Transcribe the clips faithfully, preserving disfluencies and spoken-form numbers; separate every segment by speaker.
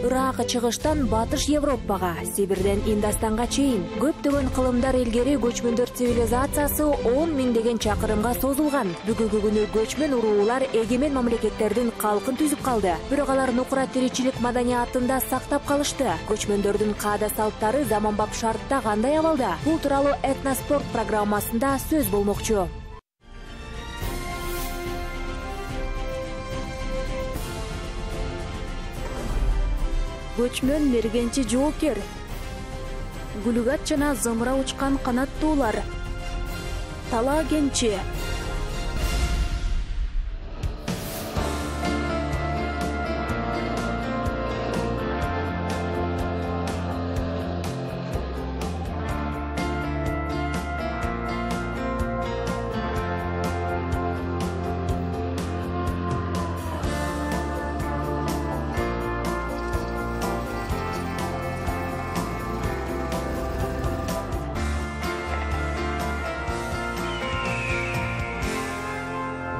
Speaker 1: Ырак чыгыштан Батыш Европага, Сибирден Индастанга чейин көптөгөн кылымдар илгери көчмөндөр цивилизациясы он миңдеген чакырымга созулган. Бүгүнкү күнү көчмөн уруулар эгемен мамлекеттердин калкын түзүп калды. Бирок алар нукура тиричилик маданиятында сактап калышты. Көчмөндөрдүн каада салттары заманбап шартта кандай абалда? Бул тууралуу Этноспорт программасында сөз болмокчу. Көчмөн мергенчи жоокер, гүлүгат жана зымыра учкан канаттуулар, талаа кенчи.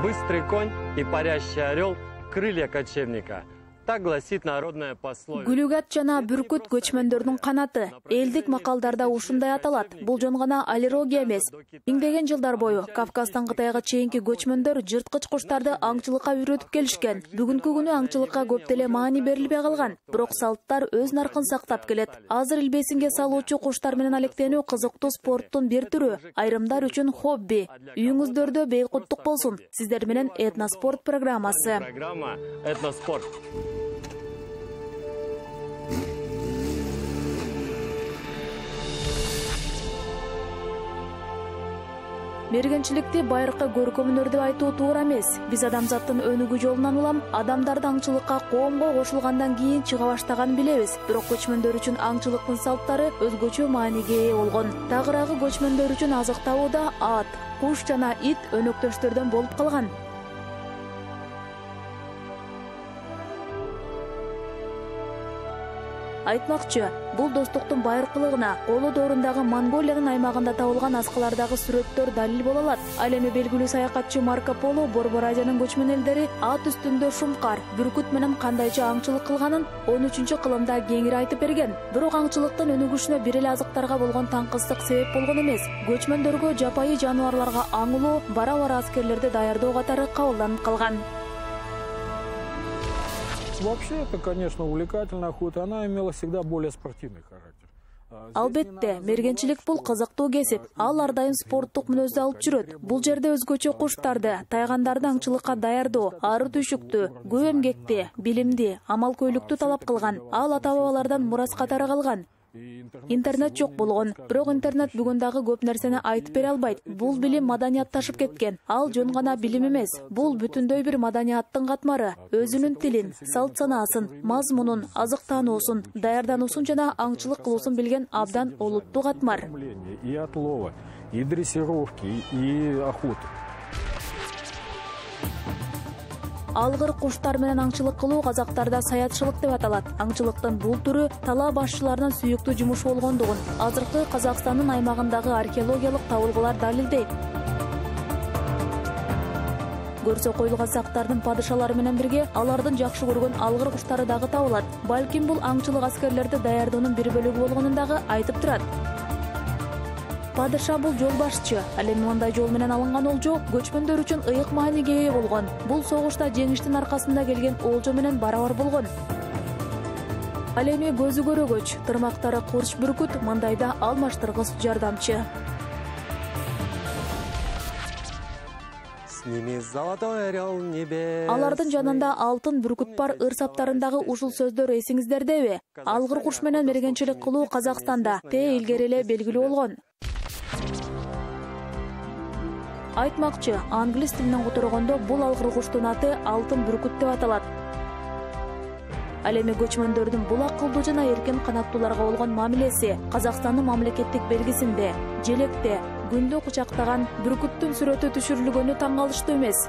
Speaker 2: Быстрый конь и парящий орел – крылья кочевника. Так гласит народная пословица.
Speaker 1: Гүлүгат жана бүркүт көчмөндөрдүн канаты. Элдик макалдарда ушундай аталат. Бул жөн гана аллергия эмес. Миңдеген жылдар бою Кавказдан Кытайга чейинки көчмөндөр жырткыч куштарды аңчылыкка үйрөтүп келишкен. Бүгүнкү күнү аңчылыкка көп деле маани берилбей калган. Бирок салттар өз наркын сактап келет. Азыр илбесинге салуучу куштар менен алектенүү кызыктуу спорттун бир түрү. Айрымдар үчүн хобби. Үйүңүздөрдө бейкуттук болсун. Сиздер менен Этноспорт программасы.
Speaker 2: Программа Этноспорт.
Speaker 1: Мергенчиликти байыркы көркөмүнөр деп айтуу туура эмес. Биз адамзаттын өнүгүү жолунан улам адамдарды аңчылыкка коомго кошулгандан кийин чыга баштаганын билебиз. Бирок көчмөндөр үчүн аңчылыктын салттары өзгөчө мааниге ээ болгон. Тагыраагы көчмөндөр үчүн азык табууда ат, куш жана ит өнөктөштөрдөн болуп калган. Айтмакчы, бул достуктун байыркылыгына коло доорундагы Монголиянын аймагында табылган аскылардагы сүрөттөр далил боло алат. Ал эми белгилүү саякатчы Марко Поло Борбор Азиянын көчмөн элдери ат үстүндө шумкар, бүркүт менен кандайча аңчылык кылганын он үчүнчү кылымда кеңири айтып берген. Бирок аңчылыктын өнүгүшүнө бир эле азыктарга болгон таңкыстык себеп болгон эмес. Көчмөндөргө жапайы жаныбарларга аңылоо, бара-бара аскерлерди даярдоо катары кабылданып калган.
Speaker 3: Вообще, это, конечно, увлекательная охота. Она имела всегда более спортивный характер.
Speaker 1: Албетте, мергенчилик бул кызыктуу кесип. Ал ар дайым спорттук мүнөздү алып жүрөт. Бул жерде өзгөчө куштарды, тайгандарды аңчылыкка даярдоо, ары түйшүктү, көп эмгекти, билимди, амал-көйлүктү талап кылган. Ал ата-бабалардан мурас катары калган. Интернет жок болгон, бирок интернет бүгүн дагы көп нерсени айтып бере албайт. Бул билим маданиятташып кеткен. Ал жөн гана билим эмес. Бул бүтүндөй бир маданияттын катмары. Өзүнүн тилин, салт санаасын, мазмунун, азыктануусун, даярдануусун жана аңчылык кылуусун билген абдан олуттуу катмар.
Speaker 3: И отлова, и дрессировки, и охоты.
Speaker 1: Алгыр куштар менен аңчылык кылуу казактарда саятчылык деп аталат. Аңчылыктын бул түрү талаа башчыларынын сүйүктүү жумушу болгондугун азыркы Казакстандын аймагындагы археологиялык табылгылар далилдейт. Көрсө коюлган сактардын падышалары менен бирге алардын жакшы көргөн алгыр куштары дагы табылат. Балким бул аңчылык аскерлерди даярдоонун бир бөлүгү болгонун дагы айтып турат. Падыша бул жол башчы. Ал эми мындай жол менен алынган олжо көчмөндөр үчүн ыйык мааниге ээ болгон. Бул согушта жеңиштин аркасында келген олжо менен барабар болгон. Ал эми көзү көрөгөч, тырмактары курч бүркүт, мындайда алмаштыргыс жардамчы. Алардын жанында алтын бүркүт бар. Ыр саптарындагы ушул сөздөр эсиңиздердеби? Алгыр куш менен мергенчилик кылуу Казакстанда те илгери эле белгилүү болгон. Айтмакчы, англис тилинен которгондо бул алгыр куштун аты алтын бүркүт деп аталат. Ал эми көчмөндөрдүн бул акылдуу жана эркин канаттууларга болгон мамилеси Казакстандын мамлекеттик белгисинде, желекте, күндү кучактаган бүркүттүн сүрөтү түшүрүлгөнү таң калыштуу эмес.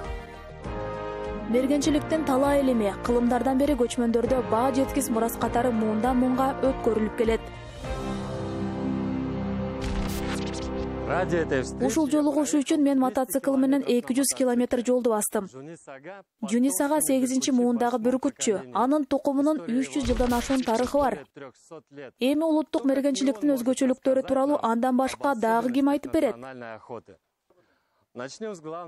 Speaker 1: Мергенчиликтин талаа илими кылымдардан бери көчмөндөрдө баа жеткис мурас катары муундан муунга өткөрүлүп келет.
Speaker 2: Ради этой встречи...
Speaker 1: Ушул жолугушуу үчүн мен мотоцикл менен эки жүз километр жолду бастым. Жунис ага сегизинчи муундагы бүркүтчү. Анын тукумунун үч жүз жылдан ашуун тарыхы бар. Эми улуттук мергенчиликтин өзгөчөлүктөрү тууралуу андан башка дагы ким айтып берет?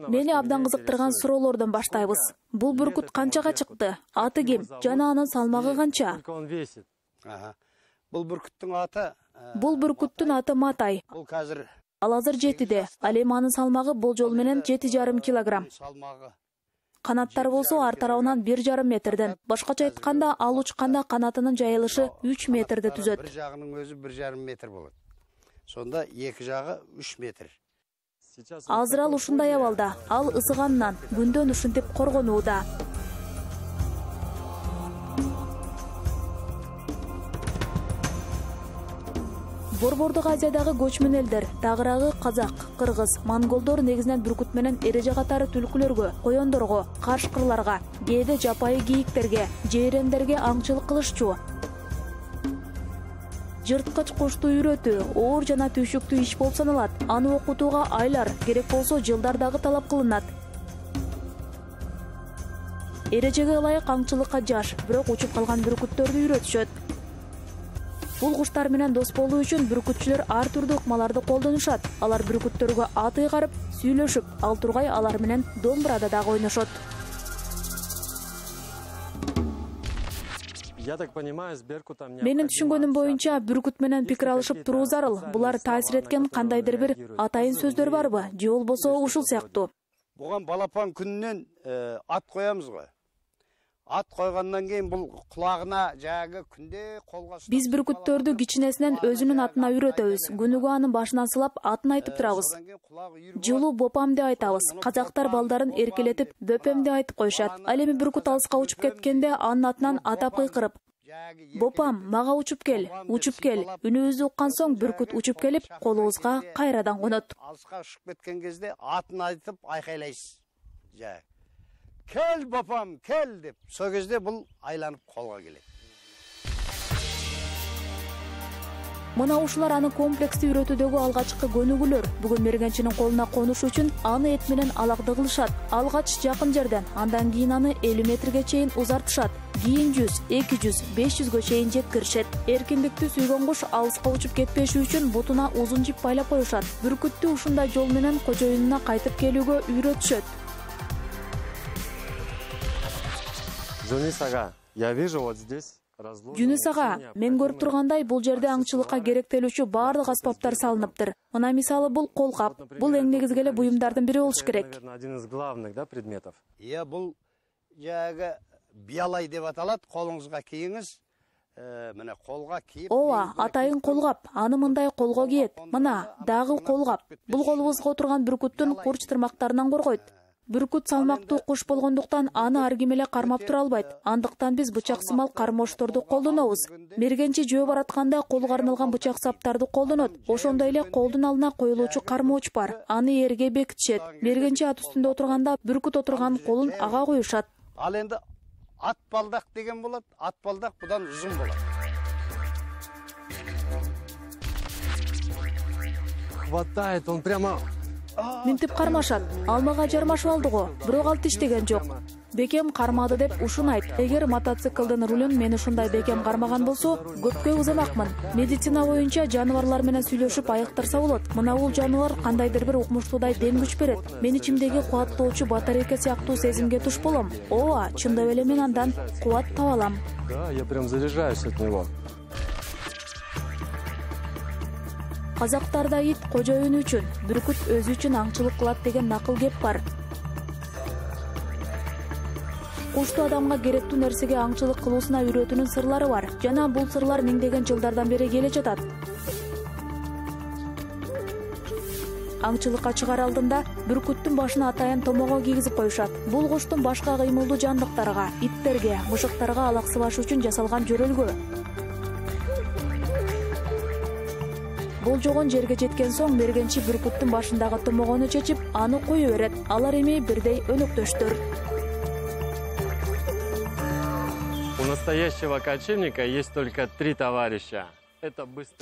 Speaker 1: Мени абдан кызыктырган суроолордон баштайбыз. Бул бүркүт канчага чыкты? Аты ким? Жана анын салмагы канча?
Speaker 4: Бул бүркүттүн аты...
Speaker 1: Бул бүркүттүн аты Матай.
Speaker 4: Бул азыр...
Speaker 1: Ал азыр жетиде. Ал эми анын салмагы болжол менен жети жарым килограмм. Канаттары болсо ар тарабынан бир жарым метрден. Башкача айтканда, ал учканда канатынын жайылышы үч метрди түзөт.
Speaker 4: Бир жагынын өзү бир жарым метр болот. Сонда эки жагы үч метр.
Speaker 1: Азыр ал ушундай абалда. Ал ысыганынан күндөн ушинтип коргонууда. Борбордук Азиядагы көчмөн элдер, тагыраагы казак, кыргыз, монголдор негизинен бүркүт менен эреже катары түлкүлөргө, коёндорго, кашкырларга, кээде жапайы кийиктерге, жейрендерге аңчылык кылышчу. Жырткыч кушту үйрөтүү оор жана түйшүктүү иш болуп саналат. Аны окутууга айлар, керек болсо жылдар дагы талап кылынат. Эрежеге ылайык аңчылыкка жаш, бирок учуп калган бүркүттөрдү үйрөтүшөт. Бул куштар менен дос болуу үчүн бүркүтчүлөр ар түрдүү ыкмаларды колдонушат. Алар бүркүттөргө ат ыйгарып, сүйлөшүп, ал тургай алар менен домбурада дагы ойношот. Менин түшүнгөнүм боюнча бүркүт менен пикир алышып туруу зарыл. Булар таасир эткен кандайдыр бир атайын сөздөр барбы? Же болбосо ушул сыяктуу?
Speaker 4: Буган балапан күнүнөн ат коябыз го. Ат койгондон кийин бул кулагына жагы күндө колго...
Speaker 1: Биз бүркүттөрдү кичинесинен өзүнүн атына үйрөтөбүз. Күнүгө анын башынан сылап атын айтып турабыз. Жылуу бопам деп айтабыз. Казактар балдарын эркелетип бөпем деп айтып коюшат. Ал эми бүркүт алыска учуп кеткенде анын атынан атап кыйкырып: "Бопам, мага учуп кел, учуп кел." Үнүбүздү уккан соң бүркүт учуп келип, колубузга кайрадан конот.
Speaker 4: Алыска учуп кеткен кезде атын айтып айкайлайсыз. Жа. Кел бапам, кел деп. Со кезде бул айланып колго келет.
Speaker 1: Мына ушулар аны комплекстүү үйрөтүүдөгү алгачкы көнүгүүлөр. Бүгүн мергенчинин колуна конуш үчүн аны эт менен алакты кылышат. Алгач жакын жерден, андан кийин аны элүү метрге чейин узартышат. Кийин жүз, эки жүз, беш жүзгө чейин жеткиришет. Эркиндикти сүйгөн куш алыска учуп кетпеши үчүн бутуна узун жип байлап коюшат. Бүркүттү ушундай жол менен кожоюнуна кайтып келүүгө үйрөтүшөт.
Speaker 2: Жунис ага, я вижу вот здесь разложено...
Speaker 1: Жунис ага, мен көрүп тургандай бул жерде аңчылыкка керектелүүчү баардык аспаптар салыныптыр. Мына мисалы бул колкап. Бул эң негизги эле буюмдардын бири болуш керек.
Speaker 2: Один из главных, да, предметов.
Speaker 4: Иә, бул жагы биялай деп аталат. Колуңузга кийиңиз. Мына колго кийип...
Speaker 1: Ооба, атайын колгап. Аны мындай колго кийет. Мына, дагы колгап. Бул колубузга отурган бүркүттүн курч тырмактарынан коргойт. Бүркүт салмактуу куш болгондуктан аны ар ким эле кармап тура албайт. Андыктан биз бычак сымал кармошторду колдонобуз. Мергенчи жөө баратканда колго арналган бычак саптарды колдонот. Ошондой эле колдун алдына коюлуучу кармооч бар. Аны эрге бекитишет. Мергенчи ат үстүндө отурганда бүркүт отурган колун ага коюшат.
Speaker 4: Ал энди ат балдак деген болот. Ат балдак будан узун болот.
Speaker 2: Хватает, он прямо...
Speaker 1: Минтип кармашат. Алмага жармашып алды го, бирок ал тиштеген жок. Бекем кармады деп ушунайт. Эгер мотоциклдин рулун мен ушундай бекем кармаган болсо, көпкө узамакмын. Медицина боюнча жаныбарлар менен сүйлөшүп айыктырса болот. Мына бул жаныбар кандайдыр бир укмуштуудай дем күч берет. Мен ичимдеги кубаттоочу батарейка сыяктуу сезимге туш болом. Ооба, чындап эле мен андан кубат таба алам.
Speaker 2: Да, я прям заряжаюсь от него.
Speaker 1: Казактарда ит кожоюну үчүн, бүркүт өзү үчүн аңчылык кылат деген накыл кеп бар. Кушту адамга керектүү нерсеге аңчылык кылуусуна үйрөтүүнүн сырлары бар. Жана бул сырлар миңдеген жылдардан бери келе жатат. Аңчылыкка чыгаар алдында бүркүттүн башына атайын томого кийгизип коюшат. Бул куштун башка кыймылдуу жандыктарга, иттерге, мышыктарга алаксыбаш үчүн жасалган жөрөлгө. Болжогон жерге жеткен соң мергенчи бүркүттүн башындагы томогону чечип, аны кое берет. Алар эми бирдей өнөктөштөр.
Speaker 2: У настоящего кочевника есть только три товарища.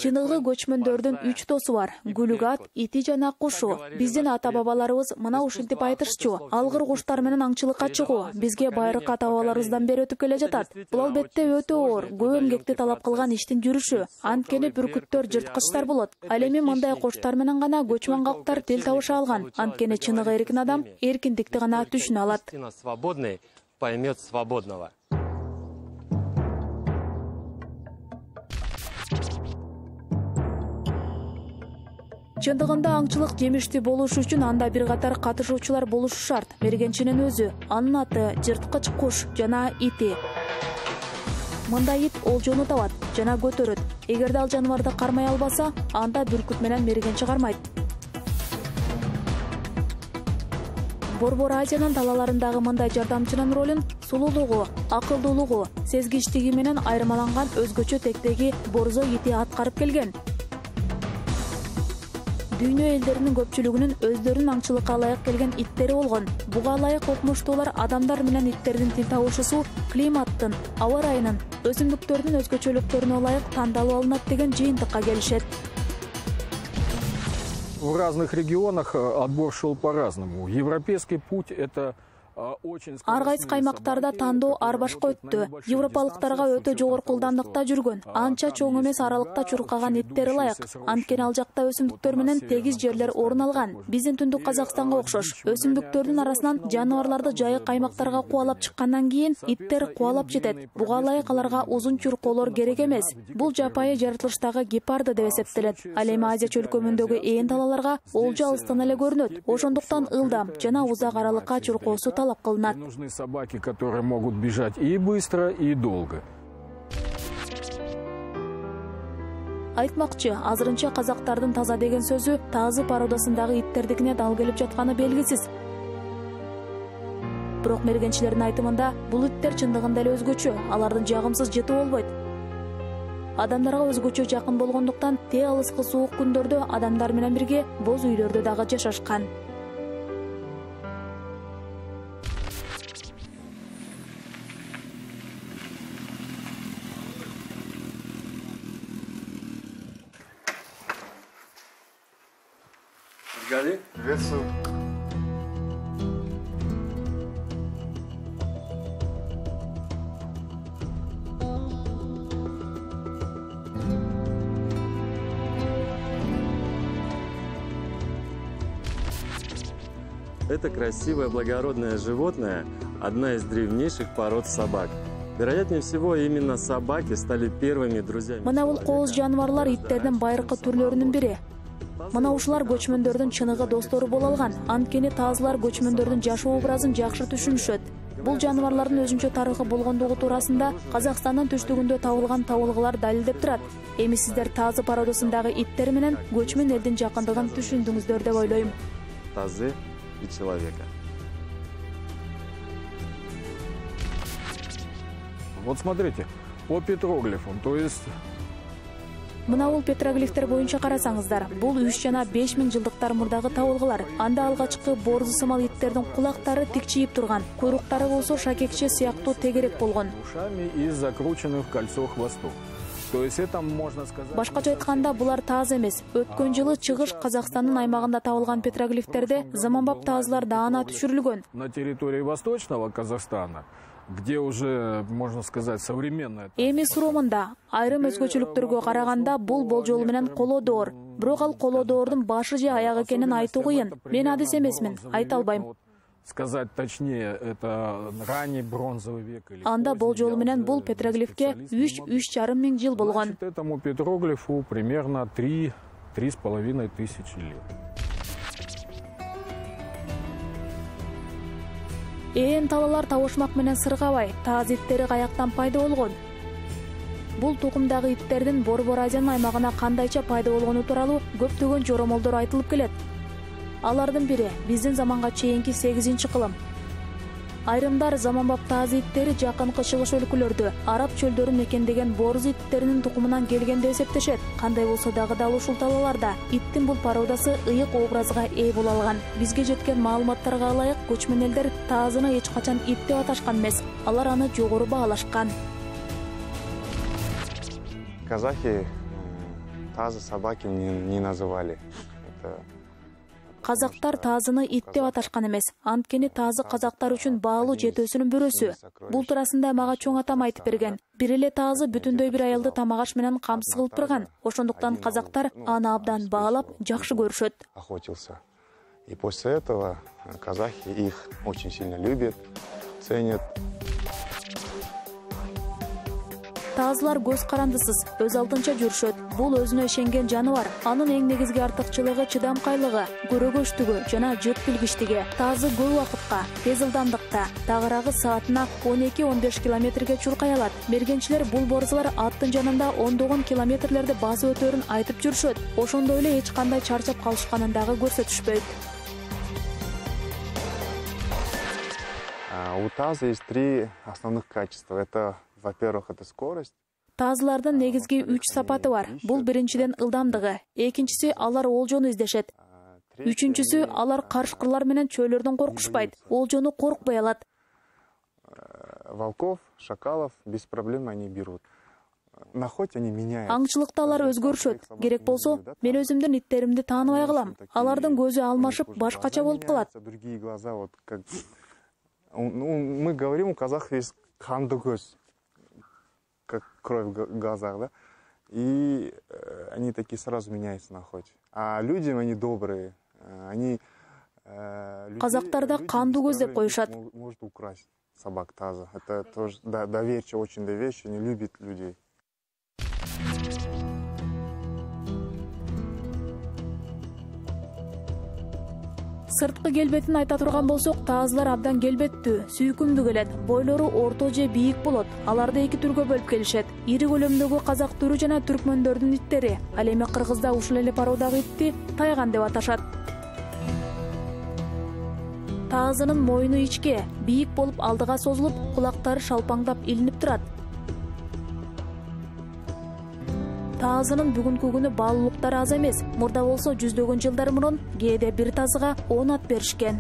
Speaker 1: Чыныгы көчмөндөрдүн үч досу бар: гүлүгат, ити жана кушу. Биздин ата-бабаларыбыз мына ушинтип айтышчу: алгыр куштар менен аңчылыкка чыгуу бизге байыркы ата-бабаларыбыздан бери өтүп келе жатат. Бул албетте өтө оор, көп эмгекти талап кылган иштин жүрүшү. Анткени бүркүттөр жырткычтар болот. Ал эми мындай куштар менен гана көчмөн калктар тил табыша алган. Анткени чыныгы эркин адам эркиндикти гана түшүнө алат.
Speaker 2: Свободный поймет свободного.
Speaker 1: Чындыгында аңчылык жемиштүү болуш үчүн анда бир катар катышуучулар болушу шарт. Мергенчинин өзү, анын аты, жырткыч куш жана ити. Мындай ит олжону табат жана көтөрөт. Эгерде ал жаныбарды кармай албаса, анда бүркүт менен мергенчи кармайт. Борбор Азиянын талаларындагы мындай жардамчынын ролун сулуулугу, акылдуулугу, сезгичтиги менен айырмаланган өзгөчө тектеги борзо ити аткарып келген. Дүйнө элдеринин көпчүлүгүнүн өздөрүнүн аңчылыкка ылайык келген иттери болгон. Буга ылайык окумуштуулар адамдар менен иттердин тил табышуусу климаттын, аба ырайынын, өсүмдүктөрдүн өзгөчөлүктөрүнө ылайык тандалып алынат деген жыйынтыкка келишет.
Speaker 3: В разных регионах отбор шел по-разному. Европейский путь – это
Speaker 1: Ар кайсы каймактарда тандоо ар башка өттү. Европалыктарга өтө жогорку ылдамдыкта жүргөн, анча чоң эмес аралыкта чуркаган иттер ылайык. Анткени ал жакта өсүмдүктөр менен тегиз жерлер орун алган. Биздин түндүк Казакстанга окшош. Өсүмдүктөрдүн арасынан жаныбарларды жайык каймактарга кубалап чыккандан кийин иттер кубалап жетет. Буга ылайык аларга узун чуркоолор керек эмес. Бул жапайы жаратылыштагы гепарды деп эсептелет. Ал эми Азия чөлкөмүндөгү ээн талаларга олжо алыстан эле көрүнөт. Ошондуктан ылдам жана узак аралыкка чуркоосу талап кылынат.
Speaker 3: Нужны собаки, которые могут бежать и быстро, и долго.
Speaker 1: Айтмакчы, азырынча казактардын таза деген сөзү тазы породасындагы иттердикине дал келип жатканы белгисиз. Бирок мергенчилердин айтымында бул иттер чындыгында эле өзгөчө, алардын жагымсыз жыты болбойт. Адамдарга өзгөчө жакын болгондуктан те алыскы суук күндөрдө адамдар менен бирге боз үйлөрдө дагы жашашкан.
Speaker 5: Приветствую.
Speaker 2: Это красивое благородное животное – одна из древнейших пород собак. Вероятнее всего, именно собаки стали первыми друзьями.
Speaker 1: Мына бул кооз жаныбарлар иттердин байыркы түрлөрүнүн бири. Мына ушулар көчмөндөрдүн чыныгы достору боло алган. Анткени тазылар көчмөндөрдүн жашоо образын жакшы түшүнүшөт. Бул жаныбарлардын өзүнчө тарыхы болгондугу туурасында Казакстандын түштүгүндө табылган табылгылар далилдеп турат. Эми сиздер тазы породасындагы иттер менен көчмөн элдин жакындыгын түшүндүңүздөр деп ойлойм.
Speaker 2: Тазы и человека.
Speaker 3: Вот смотрите, по петроглифам, то есть...
Speaker 1: Мына бул петроглифтер боюнча карасаңыздар, бул үч жана беш миң жылдыктар мурдагы табылгылар. Анда алгачкы борзу сымал иттердин кулактары тикчиип турган, куйруктары болсо шакекче сыяктуу тегерек болгон.
Speaker 3: Ушами и закрученных в кольцо хвостов. То есть это можно сказать...
Speaker 1: Башкача айтканда, булар таз эмес. Өткөн жылы чыгыш Казакстандын аймагында табылган петроглифтерде заманбап тазылар даана түшүрүлгөн.
Speaker 3: На территории Восточного Казахстана, где уже, можно сказать, современная...
Speaker 1: Эми суромунда айрым өзгөчөлүктөргө караганда бул болжол менен колодоор. Бирок ал колодоордун башы же аягы экенин айтуу кыйын. Мен адис эмесмин, айта албайм.
Speaker 3: Сказать точнее, это ранний бронзовый век.
Speaker 1: Анда болжол менен бул петроглифке үч үч жарым миң жыл болгон.
Speaker 3: Этому петроглифу примерно три-три с половиной тысячи лет.
Speaker 1: Ээн талалар табышмак менен сыргабай, таз иттери каяктан пайда болгон? Бул тукумдагы иттердин Борбор Азиянын аймагына кандайча пайда болгону тууралуу көптөгөн жоромолдор айтылып келет. Алардын бири биздин заманга чейинки сегизинчи кылым. Айрымдар заманбап таз иттери жакынкы чыгыш өлкөлөрдө, араб чөлдөрүн мекендеген борзу иттеринин тукумунан келген деп эсептешет. Кандай болсо дагы дал ушул талаларда иттин бул породасы ыйык образга ээ боло алган. Бизге жеткен маалыматтарга ылайык, көчмөн элдер тазыны эч качан ит деп аташкан эмес. Алар аны жогору баалашкан.
Speaker 5: Казахи тазы собаки не называли.
Speaker 1: Казактар тазыны ит деп аташкан эмес. Анткени тазы казактар үчүн баалуу жетөөсүнүн бирөөсү. Бул туурасында мага чоң атам айтып берген. Бир эле тазы бүтүндөй бир аялды тамак-аш менен камсыз кылып турган. Ошондуктан казактар аны абдан баалап, жакшы көрүшөт.
Speaker 5: Охотился. И после этого казахи их очень сильно любят, ценят.
Speaker 1: Тазылар көз карандысыз, өз алдынча жүрүшөт. Бул өзүнө ишенген жаныбар. Анын эң негизги артыкчылыгы чыдамкайлыгы, көрөгөчтүгү жана жыт билгичтиги. Тазы көп убакытка, тез ылдамдыкта, тагыраагы саатына он эки он беш километрге чуркай алат. Мергенчилер бул борзулар аттын жанында ондогон километрлерди басып өтөрүн айтып жүрүшөт. Ошондой эле эч кандай чарчап калышканын дагы көрсөтүшпөйт.
Speaker 5: У таза есть три основных качества. Это, во-первых, это скорость.
Speaker 1: Тазылардын негизги үч сапаты бар. Бул биринчиден ылдамдыгы, экинчиси алар олжону издешет. Үчүнчүсү алар карышкырлар менен чөйлөрдөн коркушпайт, олжону коркпой алат.
Speaker 5: Волков, шакалов без проблем они берут. На охоте они меняют.
Speaker 1: Аңчылыкта алар өзгөрүшөт. Керек болсо, мен өзүмдүн иттеримди тааныбай калам. Алардын көзү алмашып, башкача болуп калат.
Speaker 5: Другие глаза вот как ну, мы говорим, у казахов есть канды көз, как кровь в глазах, да? И э, они такие сразу меняются на охоте. А люди, они добрые, они... Э,
Speaker 1: Казактарда канды көз деп коюшат.
Speaker 5: Может украсть собак таза. Это тоже да, доверчиво, очень доверчиво, они любят людей.
Speaker 1: Сырткы келбетин айта турган болсок, тазылар абдан келбеттүү, сүйкүмдүү келет. Бойлору орто же бийик болот. Аларды эки түргө бөлүп келишет. Ири көлөмдөгү казак түрү жана түркмөндөрдүн иттери. Ал эми кыргызда ушул эле породагы итти тайган деп аташат. Тазынын мойну ичке, бийик болуп алдыга созулуп, кулактары шалпаңдап илинип турат. Тазынын бүгүнкү күнү баалуулуктары аз эмес. Мурда болсо жүздөгөн жылдар мурун кээде бир тазыга он ат беришкен.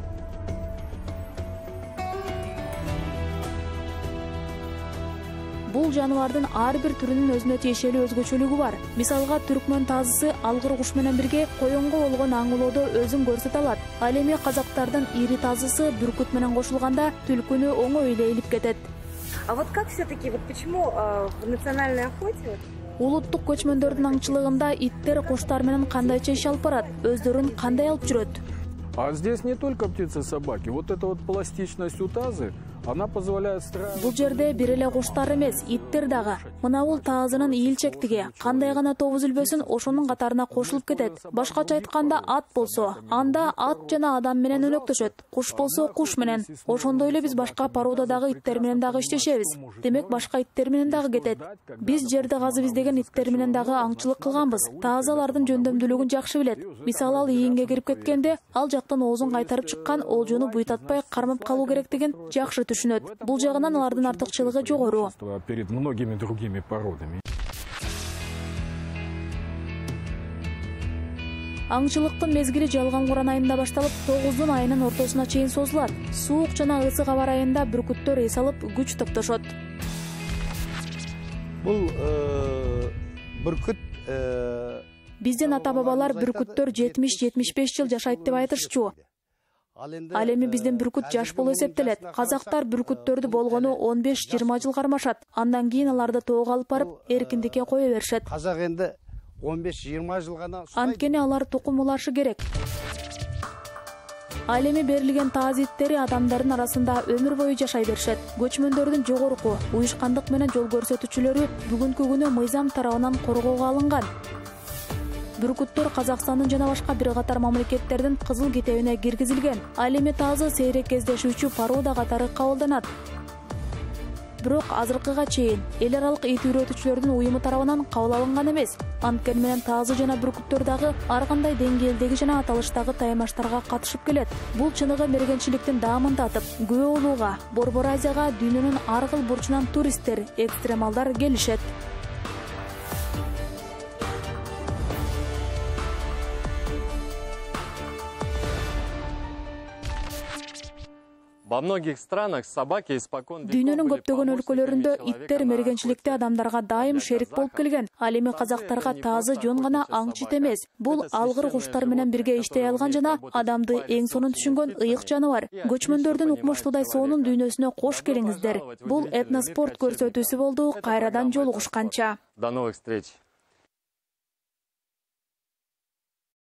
Speaker 1: Бул жаныбардын ар бир түрүнүн өзүнө тиешелүү өзгөчөлүгү бар. Мисалга, түркмөн тазысы алгыр куш менен бирге коюнго болгон аңылоодо өзүн көрсөтө алат. Ал эми казактардын ири тазысы бүркүт менен кошулганда түлкүнү оңой эле илип кетет.
Speaker 6: А вот как все-таки, вот почему э, в национальной охоте
Speaker 1: улуттук көчмөндөрдүн аңчылыгында иттер куштар менен кандайча иш алып барат, өздөрүн кандай алып жүрөт?
Speaker 3: А здесь не только птицы, собаки. Вот эта вот пластичность у тазы, она позволяет строить...
Speaker 1: Бул жерде бир эле куштар эмес, иттер дагы. Мына бул тазынын ийилчектиги, кандай гана тобу үзүлбөсүн ошонун катарына кошулуп кетет. Башкача айтканда, ат болсо, анда ат жана адам менен өнөктөшөт. Куш болсо, куш менен. Ошондой эле биз башка породадагы иттер менен дагы иштешебиз. Демек, башка иттер менен дагы кетет. Биз жерди казып издеген иттер менен дагы аңчылык кылганбыз. Тазы алардын жөндөмдүүлүгүн жакшы билет. Мисалы, ал ийинге кирип кеткенде, ал жактан оозун кайтарып чыккан олжону буйтатпай кармап калуу керектигин жакшы түшүнөт. Бул жагынан алардын артыкчылыгы жогору.
Speaker 3: Перед многими другими породами.
Speaker 1: Аңчылыктын мезгили жалган куран айында башталып, тогуздун айынын ортосуна чейин созулат. Суук жана ысык аба айында бүркүттөр эс алып, күч топтошот.
Speaker 4: Бул бүркүт
Speaker 1: Биздин ата-бабалар бүркүттөр жетимиш жетимиш беш жыл жашайт деп айтышчу. Ал эми биздин бүркүт жаш болуп эсептелет. Казактар бүркүттөрдү болгону он беш жыйырма жыл кармашат. Андан кийин аларды тоого алып барып, эркиндикке кое беришет.
Speaker 4: Казак энди он беш жыйырма жыл гана
Speaker 1: Анткени алар тукум улашы керек. Ал эми берилген таз иттери адамдардын арасында өмүр бою жашай беришет. Көчмөндөрдүн жогорку уюшкандык менен жол көрсөтүүчүлөрү бүгүнкү күнү мыйзам тарабынан коргоого алынган. Бүркүттөр Казакстандын жана башка бир катар мамлекеттердин кызыл китебине киргизилген. Ал эми тазы сейрек кездешүүчү порода катары кабылданат. Бирок азыркыга чейин эл аралык ит үйрөтүүчүлөрдүн уюму тарабынан кабыл алынган эмес. Анткени менен тазы жана бүркүттөр дагы ар кандай деңгээлдеги жана аталыштагы таймаштарга катышып келет. Бул чыныгы мергенчиликтин даамын татып, Күбө Улууга, Борбор Азияга дүйнөнүн ар кыл бурчунан туристтер, экстремалдар келишет.
Speaker 2: Во многих странах собаки испокон веков
Speaker 1: Дүйнөнүн
Speaker 2: были
Speaker 1: көптөгөн өлкөлөрүндө
Speaker 2: помощниками
Speaker 1: иттер
Speaker 2: человека на
Speaker 1: мергенчиликте
Speaker 2: охоте.
Speaker 1: адамдарга дайым шерик болуп келген. Ал эми казактарга таазы жөн гана аңчы эмес. Бул алгыр куштар менен бирге иштей алган жана адамды эң сонун түшүнгөн ыйык жаныбар. Көчмөндөрдүн укмуштуудай сонун дүйнөсүнө кош келиңиздер. Бул этноспорт көрсөтүүсү болду. Кайрадан жолугушканча.
Speaker 2: До новых встреч.